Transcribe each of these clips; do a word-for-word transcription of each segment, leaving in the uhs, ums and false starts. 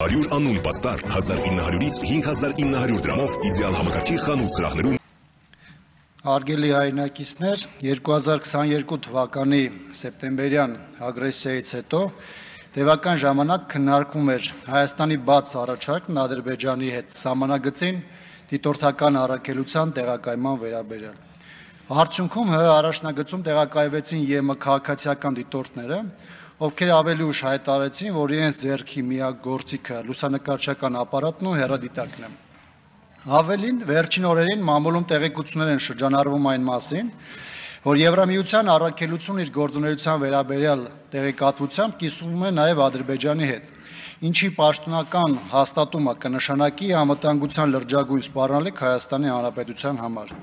հարյուր անուն պաստար հազար ինը հարյուրից հինգ հազար ինը հարյուր դրամով իդեալ համակարգի խանութ սրահներում։ Հարգելի հայրենակիցներ, երկու հազար քսաներկու թվականի սեպտեմբերյան ագրեսիայից հետո տևական ժամանակ քննարկում էր Հայաստանի բաց առաջարկն Ադրբեջանի հետ սահմանագծին դիտորդական առաքելության տեղակայման վերաբերյալ։ Արդյունքում ՀՀ առաջնագծում տեղակայվեցին ԵՄ քաղաքացիական դիտորդները, ովքեր ավելի ուշ հայտարարեցին, որ իրենց ձեռքի միակ գործիքը լուսանկարչական ապարատն ու հեռադիտակն է։ Ավելին, վերջին օրերին մամուլում տեղեկություններ են շրջանառվում այն մասին, որ Եվրամիության առաքելությունը իր գործունեության վերաբերյալ տեղեկատվությամբ կիսվում է նաև Ադրբեջանի հետ, ինչի պաշտոնական հաստատումը կնշանակի անվտանգության լրջագույն սպառնալիք Հայաստանի Հանրապետության համար։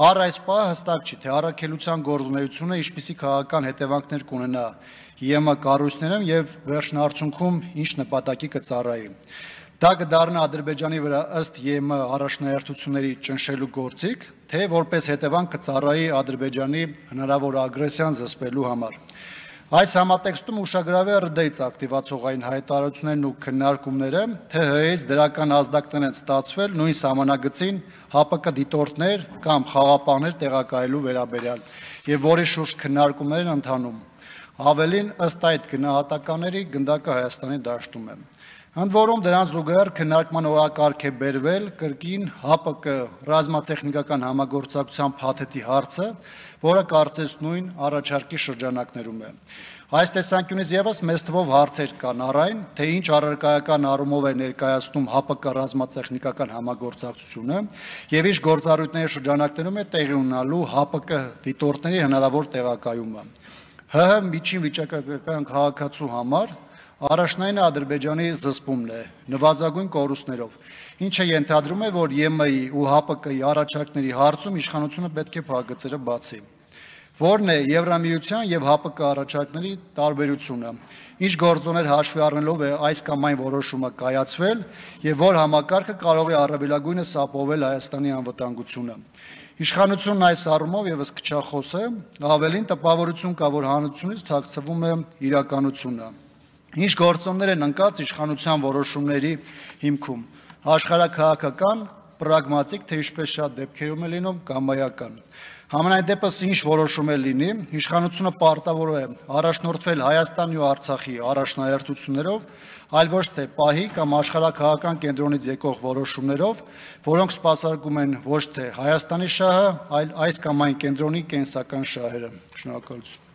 Առ այս պահը հստակ չի, թե առաքելության գործունեությունը ինչպիսի քաղաքական հետևանքներ կունենա ԵՄ կառույցներում եւ վերջնարդյունքում ինչ նպատակի կծառայի։ Դա կդառնա Ադրբեջանի վրա ըստ ԵՄ առաջնահերթությունների ճնշելու գործիք, թե որպես հետևանք կծառայի Ադրբեջանի հնարավոր ագրեսիան զսպելու համար։ Այս համատեքստում ուշագրավ է ՌԴ-ից ակտիվացողային հայտարարություններն ու քննարկումները, թե ՀՀ-ից դրական ազդակներ են ստացվել նույն սահմանագծին ՀԱՊԿ դիտորդներ կամ խաղապահներ տեղակայելու վերաբերյալ եւ որի շուրջ քննարկումներ են ընթանում։ Ավելին, ըստ այդ գնահատականների գնդակը Հայաստանի դաշտում է։ Ընդ որում դրան զուգահեռ քննարկման օրակարգ է բերվել կրկին ՀԱՊԿ ռազմատեխնիկական համագործակցության փաթեթի հարցը, որը կարծես նույն առաջարկի շրջանակներում է։ Այս տեսանկյունից եւս մեծ թվով հարցեր կան առ այն, թե ինչ առարկայական առումով է ներկայացնում ՀԱՊԿ ռազմատեխնիկական համագործակցությունը եւ ինչ գործառույթների շրջանակներում է տեղի ունենալու ՀԱՊԿ դիտորդների հնարավոր տեղակայումը։ ՀՀ միջին վիճակագրական քաղաքացու համար առաջնայինը Ադրբեջանի զսպումն է նվազագույն կորուստներով, ինչը ենթադրում է, որ ԵՄ-ի ու ՀԱՊԿ-ի առաջարկների հարցում իշխանությունը պետք է փակագծերը բացի։ Որն է Եվրամիության եւ ՀԱՊԿ առաջարկների տարբերությունը, ինչ գործոներ հաշվի առնելով է այս կամ այն որոշումը կայացվել եւ որ համակարգը կարող է առավելագույնս ապահովել Հայաստանի անվտանգությունը։ Իշխանությունն այս առումով եւս քչախոս է, ավելին տպավորություն կա, որ հանրությունից թաքցվում է իրականությունը։ Ինչ գործոններ են ընկած իշխանության որոշումների հիմքում, աշխարհաքաղաքական, պրագմատիկ, թե ինչպես շատ դեպքերում է լինում կամայական։ Համենայն դեպս ինչ որոշում է լինի, իշխանությունը պարտավոր է առաջնորդվել Հայաստանի ու Արցախի առաջնահերթություններով, այլ ոչ թե պահի կամ աշխարհաքաղաքական կենտրոնից եկող որոշումներով, որոնք սպասարկում են ոչ թե Հայաստանի շահը, այլ այս կամ այն կենտրոնի կենսական շահերը։ Շնորհակալություն։